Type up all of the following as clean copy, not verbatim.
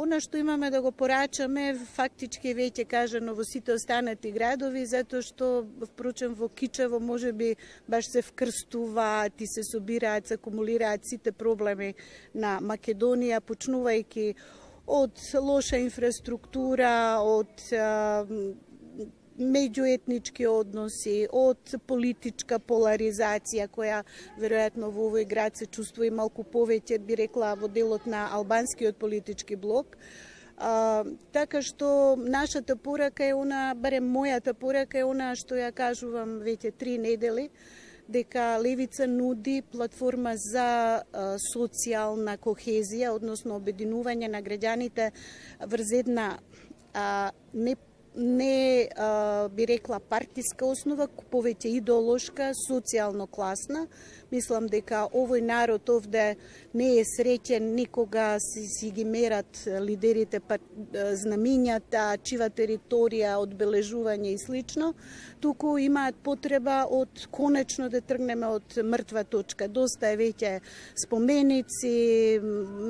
Она што имаме да го порачаме, фактички веќе кажано во сите останати градови, затоа што, впрочем, во Кичево можеби баш се вкрстуваат и се собираат, се акумулираат сите проблеми на Македонија, почнувајќи од лоша инфраструктура, од меѓуетнички односи, од политичка поларизација, која веројатно во овој град се чувствува и малку повеќе, би рекла, во делот на албанскиот политички блок. Така што нашата порака е она, барем мојата порака е она што ја кажувам веќе 3 недели, дека Левица нуди платформа за социјална кохезија, односно обединување на граѓаните врз една не би рекла партиска основа, повеќе идеолошка, социјално класна. Мислам дека овој народ овде не е среќен никога си ги мерат лидерите знамињата, чива територија, одбележување и слично, туку имаат потреба од конечно да тргнеме од мртва точка. Доста е веќе споменици,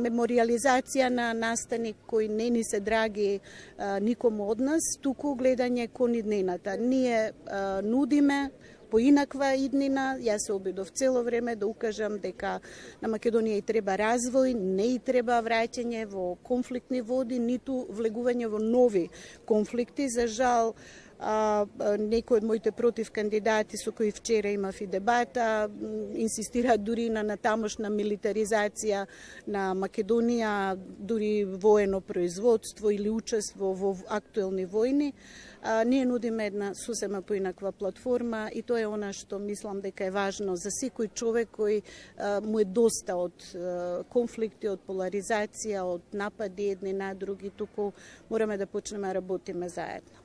мемориализација на настани кои не ни се драги никому од нас, туку гледање кон иднината. Ние нудиме поинаква иднина. Јас се обидов цело време да укажам дека на Македонија и треба развој, не и треба враќање во конфликтни води, ниту влегување во нови конфликти. За жал, некои од моите против кандидати со кои вчера имав и дебата, инсистираат дури на тамошна милитаризација на Македонија, дури воено производство или учество во актуелни војни. Ние нудиме една сосема поинаква платформа и тоа е она што мислам дека е важно за секој човек кој му е доста од конфликти, од поларизација, од напади едни на други, туку мораме да почнеме да работиме заедно.